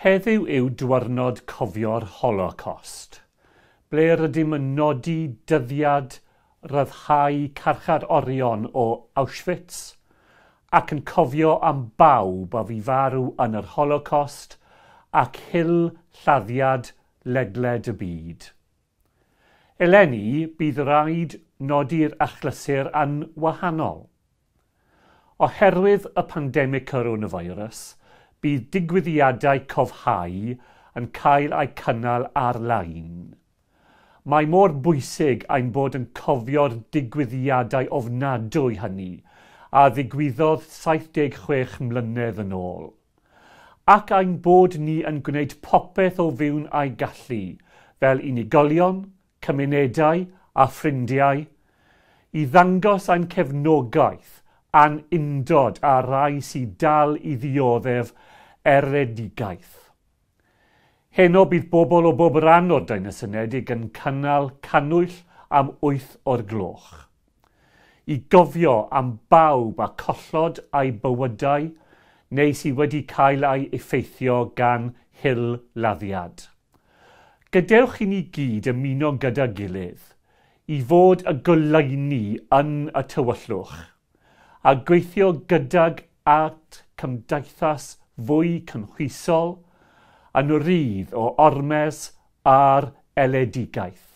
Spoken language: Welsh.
Heddiw yw diwrnod cofio'r Holocaust, ble rydym yn nodi dyddiad rhyddhau carcharorion o Auschwitz ac yn cofio am bawb a fu farw yn yr Holocaust ac hil-laddiad ledled y byd. Eleni, bydd rhaid nodi'r achlysur yn wahanol. Oherwydd y pandemig coronavirus, bydd digwyddiadau cofhau yn cael eu cynnal ar-lein. Mae mor bwysig ein bod yn cofio'r digwyddiadau ofnadwy hynny a ddigwyddodd 76 mlynedd yn ôl. Ac ein bod ni yn gwneud popeth o fewn ein gallu, fel unigolion, cymunedau a ffrindiau, i ddangos ein cefnogaeth a'n undod â'r rhai sydd dal i ddioddef erledigaeth. Heno bydd bobl o bob rhan o'r Deyrnas Unedig yn cynnal cannwyll am 8 o'r gloch. I gofio am bawb a collodd eu bywydau neu sydd wedi cael eu effeithio gan hil-laddiad. Gadewch i ni gyd ymuno gyda gilydd i fod y goleuni yn y tywyllwch a gweithio gydag at cymdeithas fwy cynhwysol yn rhydd o ormes a'r erledigaeth.